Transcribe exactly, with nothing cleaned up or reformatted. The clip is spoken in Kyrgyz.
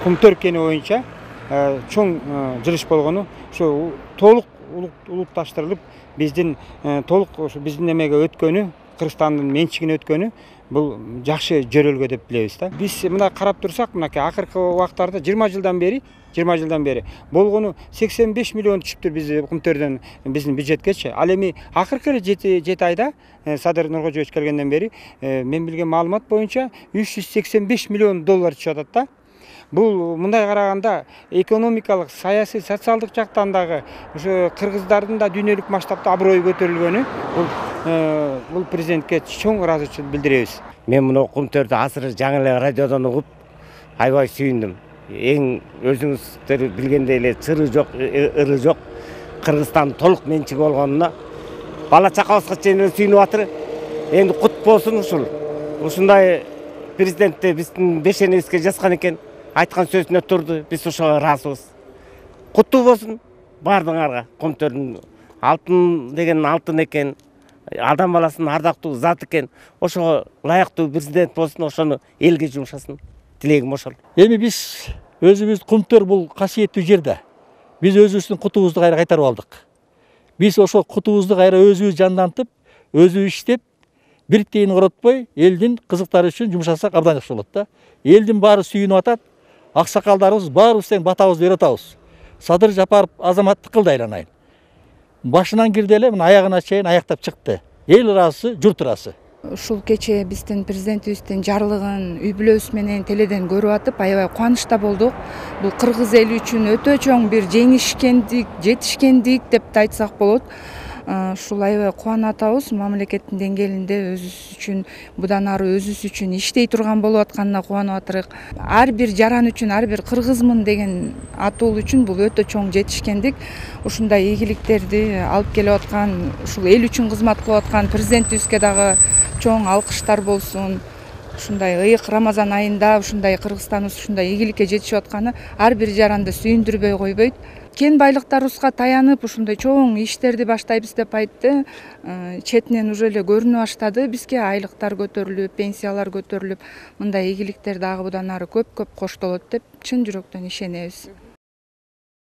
Кумтөр кени боюнча чоң жылыш болгону ошо толук улутташтырылып биздин толук ошо биздин эмеге өткөнү, Кыргызстандын менчигине өткөнү бул жакшы жөрөлгө деп билебиз да. Биз мына карап турсак, мынакей акыркы убактарда жыйырма жылдан бери жыйырма жылдан бери болгону сексен беш миллион түшүптүр биз Кумтөрдөн биздин бюджеткечи. Ал эми акыркы эле жети айда Садыр Нуркожоевич келгенден бери мен билген маалымат боюнча үч жүз сексен беш миллион доллар түшүп атат да. Бул мындай караганда экономикалык, саясий, социалдык жактан дагы ошо кыргыздардын да дүйнөлүк масштабта аброю көтөрүлгөнү бул бул президентке чоң ыраазычылык билдиребиз. Мен мына Кумтөрдү азыр жаңы эле радиодон угуп аябай сүйүндүм. Эң өзүңүздөр билгендей эле чыры жок, ыры жок Кыргызстан толук менчиги болгонуна бала чакабызга чейин сүйүнүп атыр. Эми кут болсун ушул. Ушундай президентти биздин бешенебизге жазган экен. Айткан сөзүнө турду. Биз ошого ыраазыбыз. Куттуу болсун баардыгыңарга. Кумтөрдүн алтын деген алтын экен. Адам баласынын ардактуу зат экен. Ошого ылайыктуу президент болсун, ошону элге жумшасын. Тилегим ошол. Эми биз өзүбүз Кумтөр бул касиеттүү жер да. Биз өзүбүздүн кутубузду кайра кайтарып алдык. Биз ошо кутубузду кайра өзүбүз жандантып, өзүбүз иштеп, бир тиын коротпой элдин кызыктары үчүн жумшасак абдан жакшы болот да. Элдин баары сүйүнүп атат. Аксакалдарыбыз баарыбыз тең батабызды берип атабыз. Садыр Жапаров азамат тыкылды айланайын. Башынан кирди эле мына аягына чейин аяктап чыкты. Эл ыраазы, журт ыраазы. Ушул кече биздин президентибиздин жарлыгын үй бүлөбүз менен теледен көрүп атып, аябай кубанычта болдук. Бул кыргыз эли үчүн өтө чоң бир жеңишкендик, жетишкендик деп да айтсак болот. Ушул аябай кубанып атабыз. Мамлекеттин деңгээлинде өзүбүз үчүн будан ары өзүбүз үчүн иштей турган болуп атканына кубанып атырык. Ар бир жаран үчүн, ар бир кыргызмын деген атуу үчүн бул өтө чоң жетишкендик. Ушундай ийгиликтерди алып келип аткан, ушул эл үчүн кызмат кылып аткан президентибизге дагы чоң алкыштар болсун. Ушундай ыйык Рамазан айында ушундай Кыргызстаныбыз ушундай ийгиликке жетишип атканы ар бир жаранды сүйүндүрбөй койбойт. Кен байлыктарыбызга таянып ушундай чоң иштерди баштайбыз деп айтты. Четинен уже эле көрүнө баштады. Бизге айлыктар көтөрүлүп, пенсиялар көтөрүлүп, мындай ийгиликтер дагы будан ары көп-көп коштолот деп чын жүрөктөн ишенебиз.